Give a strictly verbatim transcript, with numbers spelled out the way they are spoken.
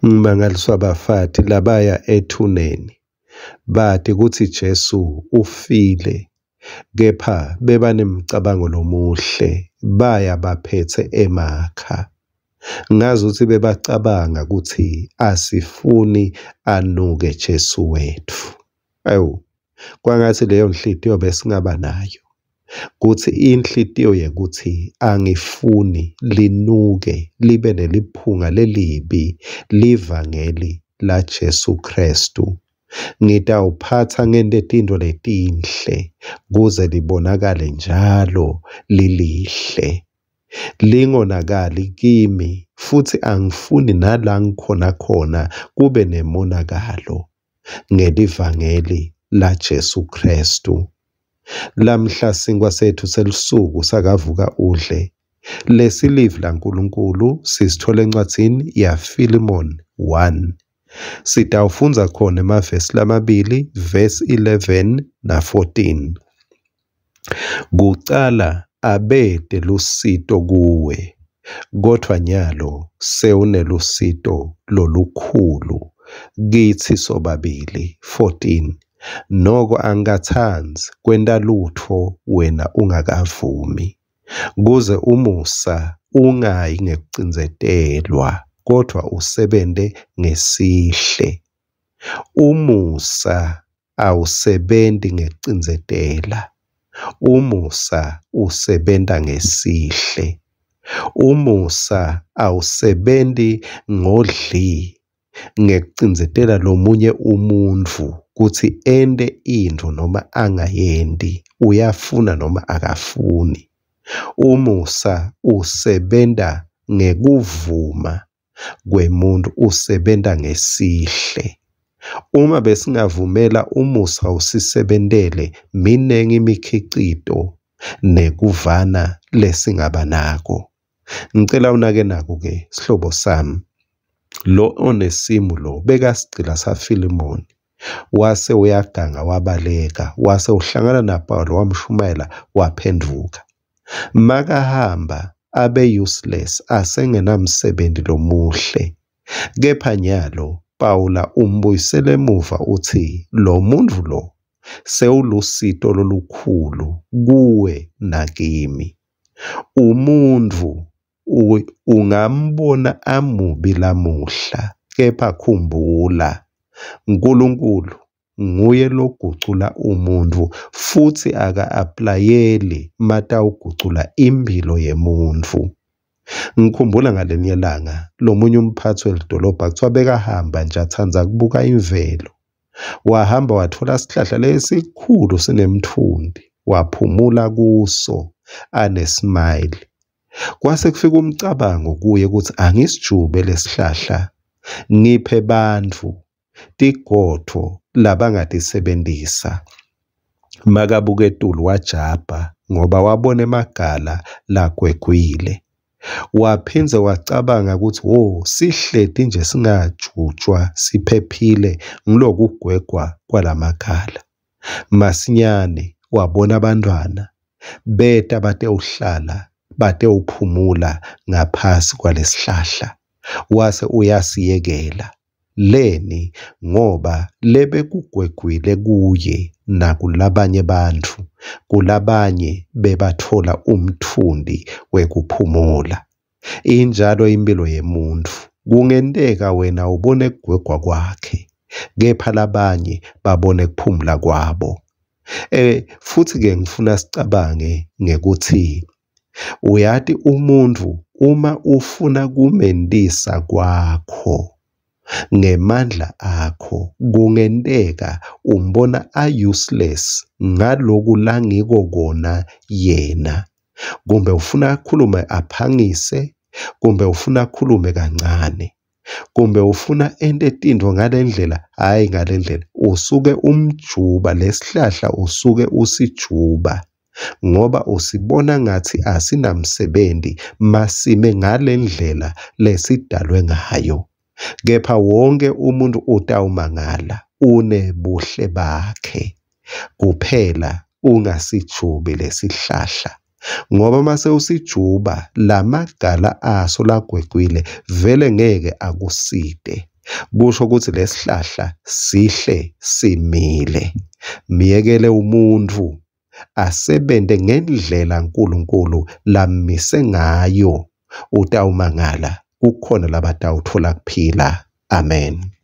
Ngimangaliswa bafati labaya ethuneni bati kutsi Jesu ufile, kepha bebanemcabango lomuhle, baya baphetse emakha. Ngazuthi bebacabanga kutsi asifuni anuke Jesu wetfu. Awu, kwangatsi leyo nhliziyo besingaba nayo, kutsi inhliziyo yekuthi angifuni linuke libe neliphunga lelibi livangeli la Jesu Kristu. Ngitawuphatsa ngente tintfo letinhle kuze libonakale njalo lilihle, lingonakali kimi, futsi angifuni nala ngikhona khona kube nemonakalo ngelivangeli la Jesu Kristu. Lamhla sinkwa sethu selusuku sakavuka udle lesilivi laNkulunkulu sisithola encwadzini yaFilimon one. Sitawufundza khona emavesi lamabili, verse eleven na fourteen. Kucala abete lusito kuwe, kodvwa nyalo sewunelusito lolukhulu kitsi sobabili. fourteen. Noko angikatsandzi kwenta lutfo wena ungakavumi, kuze umusa ungayi ngekucindzetelwa, kodvwa usebente ngesihle. Umusa awusebenti ngekucindzetela, umusa usebenta ngesihle. Umusa awusebenti ngodli, ngekucindzetela lomunye umuntfu kutsi ente intfo noma angayenti, uyafuna noma akafuni. Umusa usebenta ngekuvuma kwemuntu, usebenta ngesihle. Uma besingavumela umusa usisebentele, minengi imikhicito nekuvana lesingaba nako. Ngicela unake nako ke sihlobo sami, lo Onesimu lo bekasigcila saFilimoni, wase uyaganga wabaleka, wase uhlangana naPawulo wamshumayela waphenduka. Makahamba abe useless, asengenamsebenzi lomuhle. Kepha nyalo Pawula umbuyisele emuva uthi lo muntfu lo sewulusito lolukhulu kuwe nakimi. Umuntfu ungambona amubi lamuhla, kepha khumbula Nkulunkulu nguye logucula umuntfu, futsi aka-aplayeli matawugucula impilo yemuntfu. Ngikhumbula ngalinye langa lomunye umphatsi welidolobha kuthiwa bekahamba nje atsandza kubuka imvelo. Wahamba watfola sihlahla lesikhulu sinemtfunti, waphumula kuso anesmile. Kwase kufika umcabango kuye ukuthi angisijube lesihlahla ngiphe bantfu tigodvo labangatisebentisa. Makabuka etulu wajabha ngoba wabona emagala lagwegwile. Waphindze wacabanga ukuthi wo sihleti nje singajutshwa siphephile ngilokugwegwa kwalamagala. Masinyane wabona abantwana beta batewuhlala batewuphumula ngaphasi kwalesihlahla, wase uyasiyekela. Leni? Ngoba lebekugwegwile kuye nakulabanye bantfu, kulabanye bebathola umtfunti wekuphumula. Injalo impilo yemuntfu. Kungenteka wena ubone kugwegwa kwakhe, kepha labanye babone kuphumula kwabo. Eh futhi ke ngifuna sicabange ngekuthi uyati umuntfu uma ufuna kumentisa kwakho ngemandla akho, kungenteka umbona a-useless ngaloku langiko kona yena. Kumbe ufuna akhulume aphangise, kumbe ufuna akhulume kancane, kumbe ufuna ente tintfo ngalendlela, hhayi ngalendlela. Usuke umjuba lesihlahla, usuke usijuba ngoba usibona ngathi asinamsebenzi masime ngalendlela lesidalwe ngayo. Kepha wonke umuntu utawumangala unebuhle bakhe, kuphela ungasijubi lesihlahla, ngoba mase usijuba lamagala aso lagwegwile vele ngeke akusite. Kusho kutsi lesihlahla sihle simile. Myekele umuntfu asebente ngendlela Nkulunkulu lamise ngayo, utawumangala kukhona labatawutfola kuphila. Amen.